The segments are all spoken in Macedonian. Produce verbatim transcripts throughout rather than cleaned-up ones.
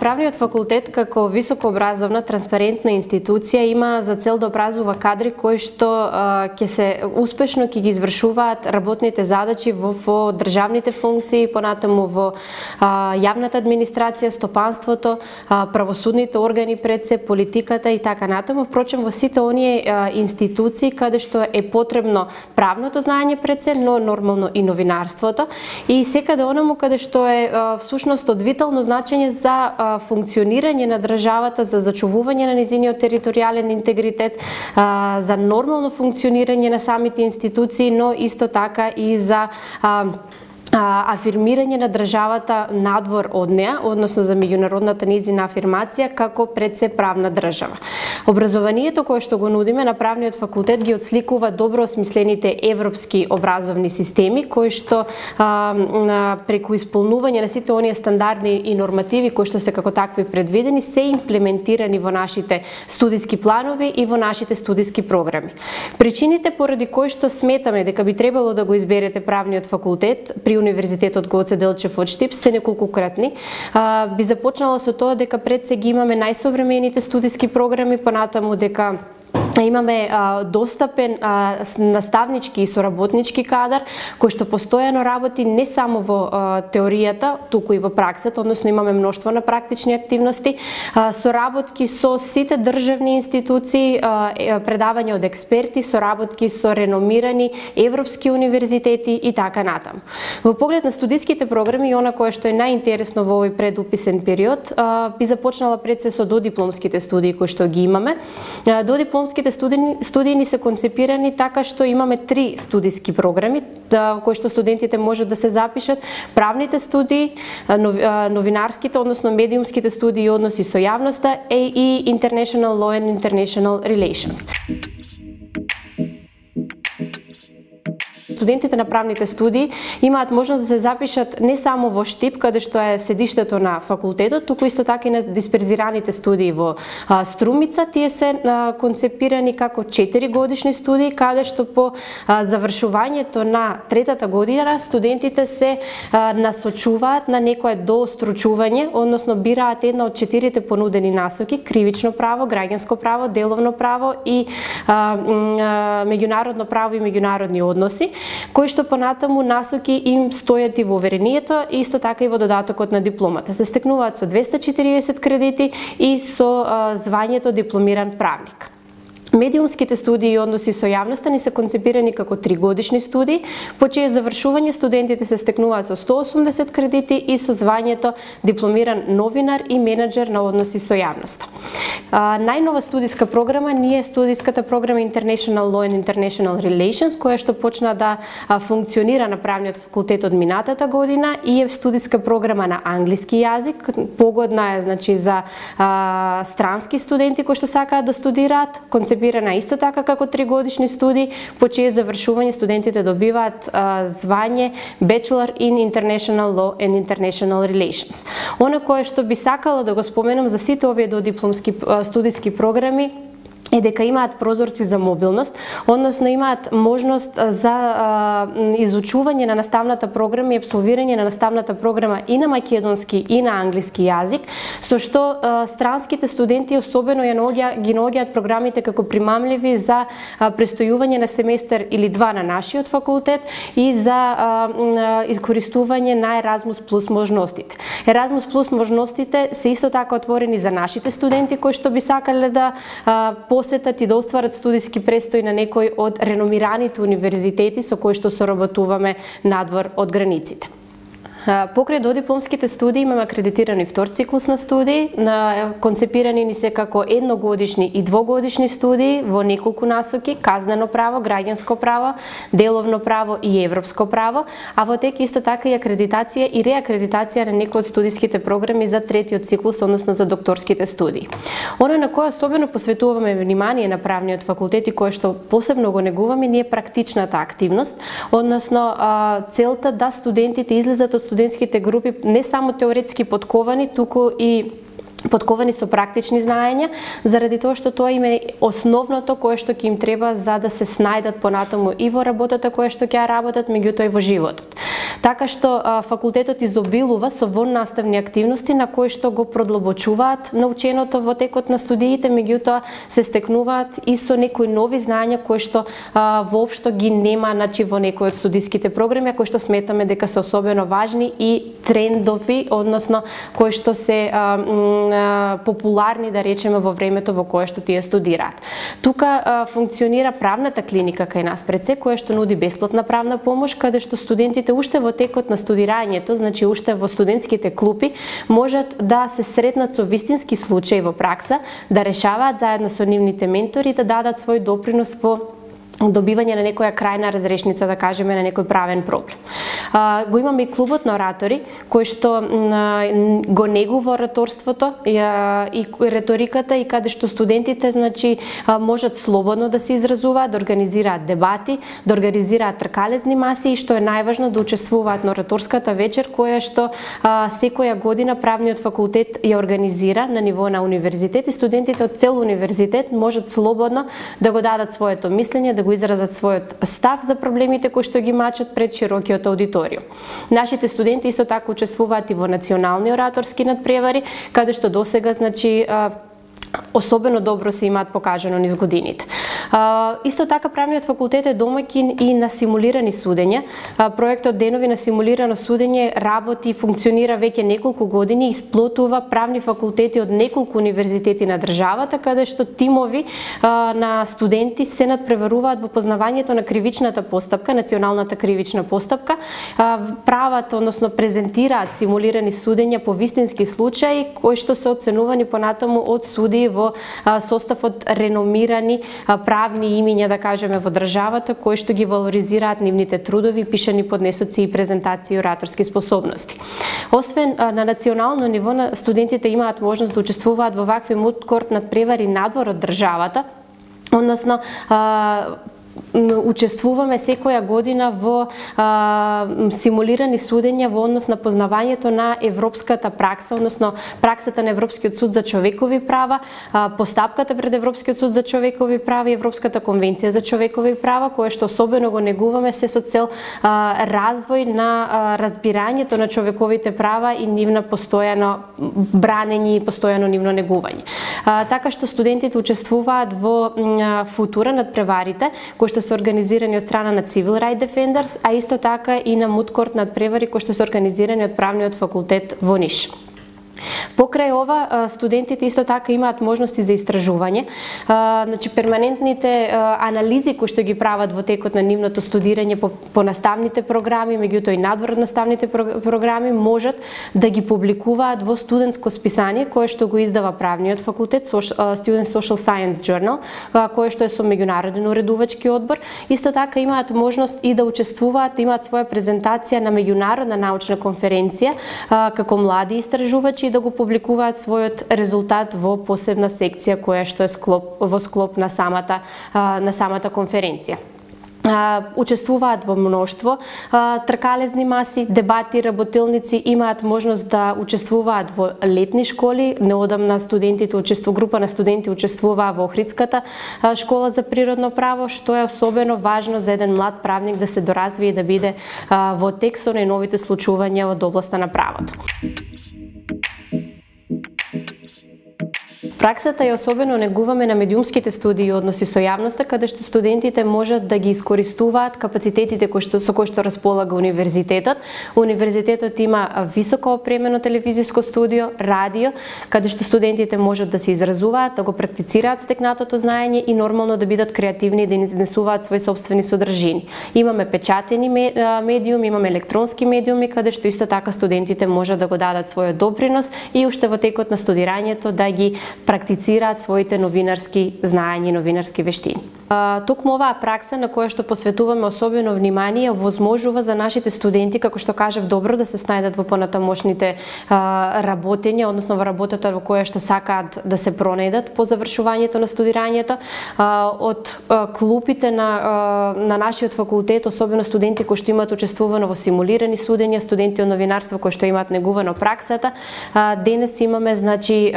Правниот факултет како високообразовна транспарентна институција има за цел да образува кадри кои што ќе се успешно ќе ги извршуваат работните задачи во, во државните функции, понатаму во а, јавната администрација, стопанството, а, правосудните органи пред се, политиката и така натаму. Впрочем, во сите оние а, институции каде што е потребно правното знаење пред се, но нормално и новинарството, и секаде онаму каде што е а, всушност од витално значење за а, функционирање на државата, за зачувување на низиниот територијален интегритет, за нормално функционирање на самите институции, но исто така и за афирмирање на државата надвор од неа, односно за меѓународната низина афирмација како пред се правна држава. Образованието кое што го нудиме на правниот факултет ги отсликува добро осмислените европски образовни системи кои што а, преку исполнување на сите оние стандарди и нормативи кои што се како такви предвидени се имплементирани во нашите студиски планови и во нашите студиски програми. Причините поради кои што сметаме дека би требало да го изберете правниот факултет при Универзитетот Гоце Делчев од Штип се неколкократни. А, би започнала со тоа дека пред се ги имаме најсовремените студиски програми, понатаму дека имаме а, достапен а, наставнички и соработнички кадар кој што постојано работи не само во а, теоријата, туку и во праксата, односно имаме мноштво на практични активности, а, соработки со сите државни институции, а, предавање од експерти, соработки со реномирани европски универзитети и така натаму. Во поглед на студиските програми и она кое што е најинтересно во овој предуписен период, а, би започнала пред се со додипломските студии кои што ги имаме. А, додипломските Студии, студии ни се концепирани така што имаме три студиски програми да, кои што студентите можат да се запишат: правните студии, новинарските, односно медиумските студии и односи со јавноста и International Law and International Relations. Студентите на правните студии имаат можност да се запишат не само во Штип, каде што е седиштето на факултетот, туку исто така и на дисперзираните студии во а, Струмица. Тие се а, концепирани како четири годишни студии, каде што по а, завршувањето на третата година студентите се а, насочуваат на некое доостручување, односно бираат една од четирите понудени насоки: кривично право, граѓанско право, деловно право и а, а, меѓународно право и меѓународни односи, кои што понатаму насоки им стојат и во уверението, и исто така и во додатокот на дипломата. Се стекнуваат со двесте и четириесет кредити и со а, звањето дипломиран правник. Медиумските студии и односи со јавноста ни се концепирани како тригодишни студии, по чие завршување студентите се стекнуваат со сто и осумдесет кредити и со звањето дипломиран новинар и менаџер на односи со јавноста. А, најнова студиска програма ни е студиската програма International Law and International Relations, која што почна да а, функционира на правниот факултет од минатата година и е студиска програма на англиски јазик. Погодна е, значи, за а, странски студенти кои што сакаат да студираат, концепирана исто така како тригодишни студии, по чие завршување студентите добиваат а, звање Bachelor in International Law and International Relations. Оно кое што би сакала да го споменам за сите овие додипломски студиски програми е дека имаат прозорци за мобилност, односно имаат можност за а, изучување на наставната програма и апсолвирање на наставната програма и на македонски и на англиски јазик, со што а, странските студенти особено ја наоѓа, ги наоѓаат програмите како примамливи за а, престојување на семестар или два на нашиот факултет и за а, искористување на Еразмус плюс можностите. Еразмус плюс можностите се исто така отворени за нашите студенти кои што би сакале да а, посетат и да остварат студиски престој на некој од реномираните универзитети со кои што соработуваме надвор од границите. Покрај додипломските студии имаме акредитирани втор циклус на студии, на концепирани ни се како едногодишни и двогодишни студии во неколку насоки: казнено право, граѓанско право, деловно право и европско право, а во тек исто така и акредитација и реакредитација на некои од студиските програми за третиот циклус, односно за докторските студии. Оно на кое особено посветуваме внимание на правниот факултет и кое што посебно го негуваме ние практичната активност, односно целта да студентите излезат од студентските групи не само теоретски подковани, туку и подковани со практични знаења, заради тоа што тоа им е основното кое што ќе им треба за да се снајдат понатаму и во работата која што ќе ја работат, меѓутоа и во животот. Така што факултетот изобилува со воннаставни активности на кои што го продлабочуваат наученото во текот на студиите, меѓутоа се стекнуваат и со некои нови знаења кои што а, воопшто ги нема, значи, во некои од студиските програми, кои што сметаме дека се особено важни и трендови, односно кои што се а, а, популарни, да речеме, во времето во кое што тие студираат. Тука а, функционира правната клиника кај нас пред се, која што нуди бесплатна правна помош, каде што студентите уште во текот на студирањето, значи уште во студентските клупи, можат да се сретнат со вистински случаи во пракса, да решаваат заедно со нивните ментори, да дадат свој допринос во добивање на некоја крајна разрешница, да кажеме, на некој правен проблем. А, го имаме и клубот на оратори, кој што а, го негува ораторството и, а, и реториката, и каде што студентите, значи, а, можат слободно да се изразуваат, да организираат дебати, да организираат тркалезни маси и што е најважно, да учествуваат на ораторската вечер, која што а, секоја година правниот факултет ја организира на ниво на универзитет, и студентите од цел универзитет можат слободно да го дадат своето мислење, да го изразат својот став за проблемите кои што ги мачат пред широкиот аудиториум. Нашите студенти исто така учествуваат и во национални ораторски надпревари, каде што досега, значи, особено добро се имаат покажано низ годините. А, исто така правниот факултет е домаќин и на симулирани судења. А, проектот Денови на симулирано судење работи и функционира веќе неколку години и сплотува правни факултети од неколку универзитети на државата, каде што тимови а, на студенти се надпреваруваат во познавањето на кривичната постапка, националната кривична постапка, а, прават, односно презентираат симулирани судења по вистински случаи кои што се оценувани понатаму од суди во а, состав од реномирани а, правни имиња, да кажеме, во државата, кои што ги валоризираат нивните трудови, пишани поднесоци и презентации и ораторски способности. Освен а, на национално ниво, на студентите имаат можност да учествуваат во вакви муткорт надпревари надвор од државата, односно а, учествуваме секоја година во а, симулирани судења во однос на познавањето на европската пракса, односно праксата на Европскиот суд за човекови права, а, постапката пред Европскиот суд за човекови права и Европската конвенција за човекови права, кое што особено го негуваме се со цел а, развој на а, разбирањето на човековите права и нивна постојано бранење и постојано нивно негување. А, така што студентите учествуваат во а, футура надпреварите, кои што се организирани од страна на Civil Right Defenders, а исто така и на муткорт надпревари кои што се организирани од правниот факултет во Ниш. Покрај ова, студентите исто така имаат можности за истражување. Значи, перманентните анализи кои што ги прават во текот на нивното студирање по, по наставните програми, меѓутоа и надвор од наставните програми, можат да ги публикуваат во студентско списание кое што го издава правниот факултет, Student Social Science Journal, кое што е со меѓународен уредувачки одбор. Исто така имаат можност и да учествуваат, имаат своја презентација на меѓународна научна конференција како млади истражувачи, да го публикуваат својот резултат во посебна секција која што е склоп, во склоп на самата, на самата конференција. Uh, учествуваат во мноштво uh, тркалезни маси, дебати, работилници, имаат можност да учествуваат во летни школи. Неодамна студентите учествува, група на студенти учествуваа во Охридската uh, школа за природно право, што е особено важно за еден млад правник да се доразвие и да биде uh, во тек со најновите случувања од областа на правото. Праксата ја особено негуваме на медиумските студии и односи со јавноста, каде што студентите можат да ги искористуваат капацитетите кои што, со кои што располага универзитетот. Универзитетот има високо опремено телевизиско студио, радио, каде што студентите можат да се изразуваат, да го практицираат стекнатото знаење и нормално да бидат креативни и да изнесуваат свои сопствени содржини. Имаме печатени медиум, имаме електронски медиуми, каде што исто така студентите можат да го дадат својот допринос и уште во текот на студирањето да ги практицираат своите новинарски знаења и новинарски вештини. Токму оваа пракса на која што посветуваме особено внимание возможува за нашите студенти, како што кажав, добро да се снајдат во понатамошните работења, односно во работата во која што сакаат да се пронајдат по завршувањето на студирањето. Од клупите на, на нашиот факултет, особено студенти кои што имаат учествувано во симулирани судења, студенти од новинарство кои што имаат негувано праксата, денес имаме, значи,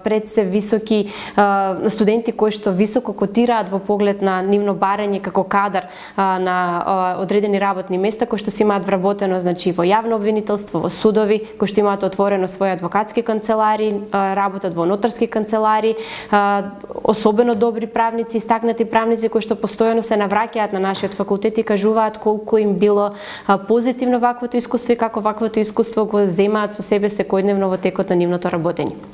пред се високи студенти кои што високо котираат во поглед оглед на нивно барање како кадар на одредени работни места кои што се имаат вработено, значи во јавно обвинителство, во судови, кои што имаат отворено своји адвокатски канцелари, работат во нотарски канцелари, особено добри правници, истакнати правници кои што постојано се навраќаат на нашиот факултет и кажуваат колку им било позитивно ваквото искуство и како ваквото искуство го земаат со себе секојдневно во текот на нивното работење.